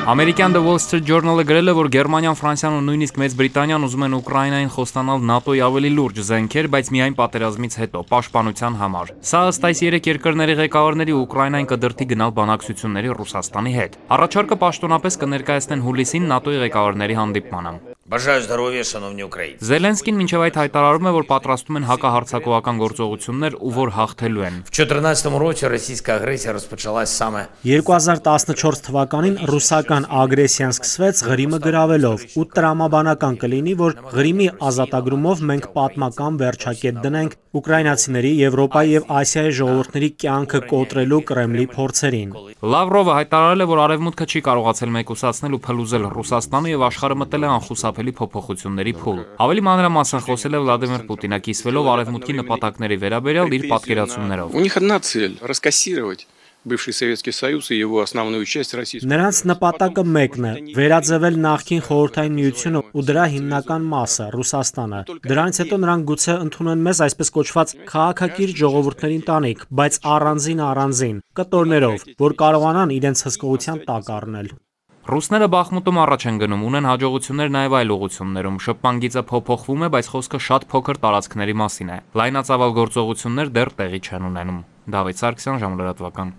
Ամերիկյան The Wall Street Journal-ը գրել է, որ Գերմանիան, Ֆրանսիան ու նույնիսկ Մեծ Բրիտանիան ուզում են Ուկրաինային խոստանալ ՆԱՏՕ-ի ավելի լուրջ զենքեր, բայց միայն պատերազմից հետո, պաշտպանության համար։ Սա ըստ այս երեք երկրների ղեկավարների Ուկրաինային կդրդի գնալ բանակցությունների Ռուսաստանի հետ։ Առաջարկը պաշտոնապես կներկայացնեն հուլիսին ՆԱՏՕ-ի ղեկավարների հանդիպմանը։ Զելենսկին մինչև այդ հայտարարում է, որ պատրաստում են հակահարձակողական գործողություններ ու որ հաղթելու են։ 2014 թվականին ռուսական ագրեսիան սկսվեց Ղրիմը գրավելով ու տրամաբանական կլինի, որ Ղրիմի ազատագրումով մենք պատմական վերջակետ դնենք ուկրաինացիների, Եվրոպայի եւ Ասիայի ժողովուրդների կյանքը կոտրելու Կրեմլի փորձերին։ Լավրովը հայտարարել է, որ Արևմուտքը չի կարողացել մեկուսացնել ու փլուզել Ռուսաստանը եւ աշխարհը մտել է անխուսափելի փոփոխությունների փուլ։ Ավելի մանրամասն խոսել է Վլադիմիր Պուտինը, կիսվելով Արևմուտքի նպատակների վերաբերյալ իր պատկերացումներով։ Бывший Советский Союз и его основную часть российскую. Նրանց նպատակը մեկն է՝ վերաձևել նախկին Խորհրդային Միությունը ու դրա հիմնական մասը՝ Ռուսաստանը։ Դրանից հետո նրանք գուցե ընդունեն մեզ այսպես կոչված քաղաքակիրթ ժողովուրդների ընտանիք, բայց առանձին, կտորներով, որ կարողանան իրենց հսկողության տակ առնել։ Ռուսները Բախմուտում առաջ են գնում, ունեն հաջողություններ նաև այլ ուղղություններում։ Շփման գիծը փոփոխվում է, բայց խոսքը շատ փոքր տարածքների մասին է։ Լայնածավալ գործողություններ դեռ տեղի չեն ունենում։ Դավիթ Սարգսյան, Ժամանակ լրատվական։